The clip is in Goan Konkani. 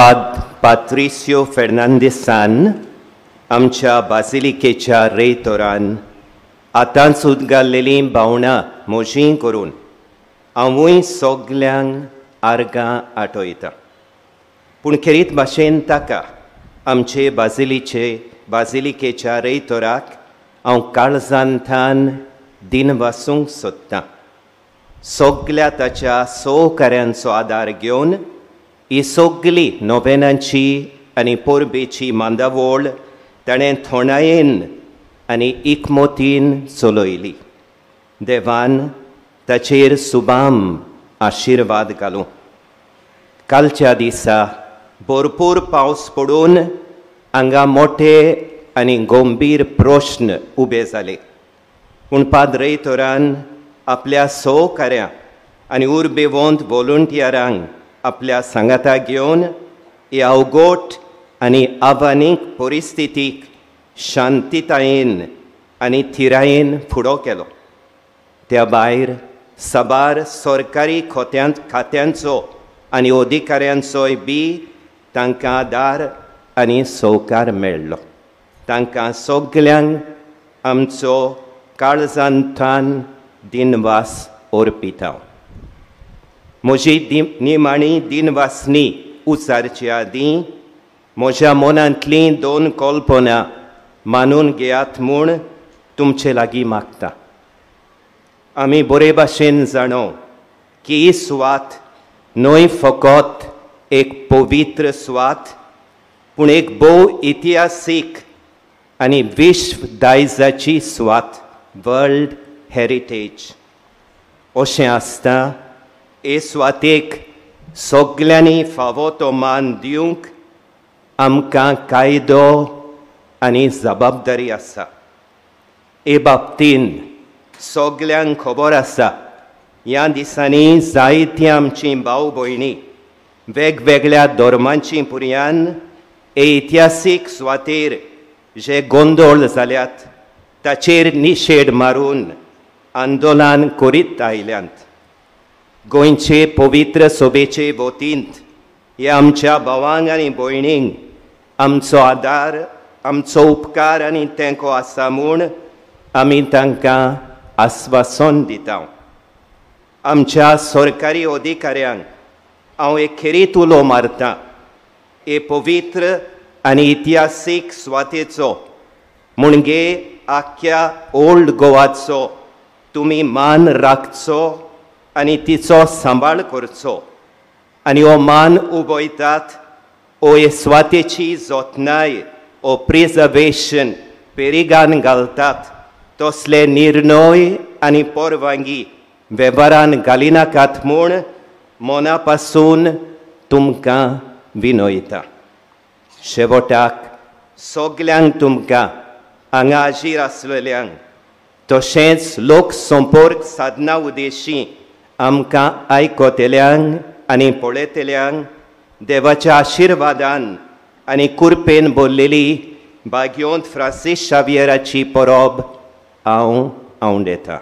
पाद पात्रिसियो फेर्नांदीसान आमच्या बासिलिकेच्या रेयतोरान आतांच उदगारलेलीं भावनां म्हजीं करून हांवूय सगल्यांक आर्गां आठयतां. पूण खेरीत भाशेन ताका आमचे बासिलिकेच्या रेयतोराक हांव काळजांतल्यान दिनवासूंक सोदतां. सगल्या ताच्या सहकाऱ्यांचो आदार घेवन ही सगली नोवेनांची आनी परबेची मांदावळ ताणें थोंडायेन आनी एकमतीन चलयली. देवान ताचेर सुबाम आशिर्वाद घालूं. कालच्या दिसा भरपूर पावस पडून हांगा मोठे आनी गंभीर प्रश्न उबे जाले. पूण पाद्रेतोरान आपल्या सहकाऱ्यां आनी उर्बेवंत वॉलंटियरांक आपल्या सांगाता घेवन ही अवघट आनी आव्हानीक परिस्थितीक शांतितायेन आनी थिरायेन फुडो केलो. त्या भायर साबार सरकारी खात्यांचो आनी अधिकाऱ्यांचोय बी तांकां आदार आनी सहकार मेळ्ळो. तांकां सगल्यांक आमचो काळजांतल्यान दिनवास अर्पिता. म्हजी निमाणी दिनवासनी उचारचे आदीं म्हज्या मनांतलीं दोन कल्पना मानून घेयात म्हूण तुमचे लागीं मागता. आमी बरे भाशेन जाणो की ही सुवात न्हय फकत एक पवित्र सुवात पूण एक भोव इतिहासीक आनी विश्व दायजाची सुवात, वर्ल्ड हेरिटेज. अशें आसता हे सुवातेक सगल्यांनी फावो तो मान दिवंक आमकां कायदो आनी जबाबदारी आसा. हे बाबतीन सगल्यांक खबर आसा ह्या दिसांनी जायतीं आमचीं भाव भयणी वेगवेगळ्या धर्मांची पुरयान हे इतिहासीक सुवातेर जे गोंदळ जाल्यात ताचेर निशेध मारून आंदोलन करीत आयल्यांत. गोंयचे पवित्र सभेचे वतींत ह्या आमच्या भावांक आनी भयणींक आमचो आदार, आमचो उपकार आनी तेंको आसा म्हूण आमी तांकां आस्वासन दिता. आमच्या सरकारी अधिकाऱ्यांक हांव एक खेरीत उलो मारता, हे पवित्र आनी इतिहासीक सुवातेचो म्हणजे आख्ख्या ओल्ड गोवाचो तुमी मान राखचो आनी तिचो सांबाळ करचो आनी हो मान उबयतात ओ हे सुवातेची जतनाय ओ प्रिजर्वेशन पेरिगान घालतात तसले निर्णय आनी परवानगी वेव्हारान घालिनाकात म्हूण मना पासून तुमकां विनयता. शेवटाक सगल्यांक तुमकां हांगा हाजीर आसलेल्यांक तशेंच लोक संपर्क साधना उद्देशी आमकां आयकतल्यांक आनी पळयतल्यांक देवाच्या आशिर्वादान आनी कुरपेन भरलेली भाग्योंत फ्रांसीस शावियराची परब हांव आवडेता.